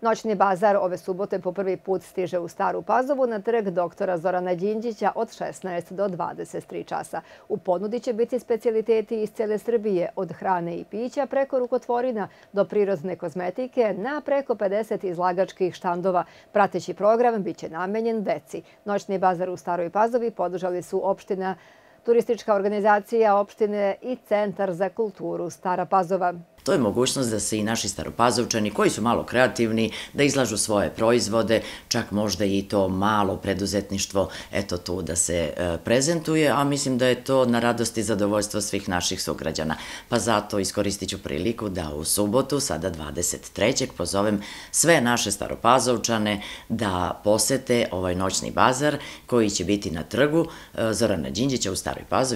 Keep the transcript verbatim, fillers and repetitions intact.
Noćni bazar ove subote po prvi put stiže u Staru Pazovu na trg doktora Zorana Đinđića od šesnaest do dvadeset tri časa. U ponudi će biti specijaliteti iz cele Srbije, od hrane i pića preko rukotvorina do prirodne kozmetike na preko pedeset izlagačkih štandova. Prateći program biće namenjen deci. Noćni bazar u Staroj Pazovi podržali su opština, turistička organizacija opštine i Centar za kulturu Stara Pazova. To je mogućnost da se i naši staropazovčani, koji su malo kreativni, da izlažu svoje proizvode, čak možda i to malo preduzetništvo, eto tu da se prezentuje, a mislim da je to na radost i zadovoljstvo svih naših sugrađana. Pa zato iskoristit ću priliku da u subotu, sada dvadeset trećeg pozovem sve naše staropazovčane da posete ovaj noćni bazar koji će biti na trgu Zorana Đinđića u Staroj Pazovi.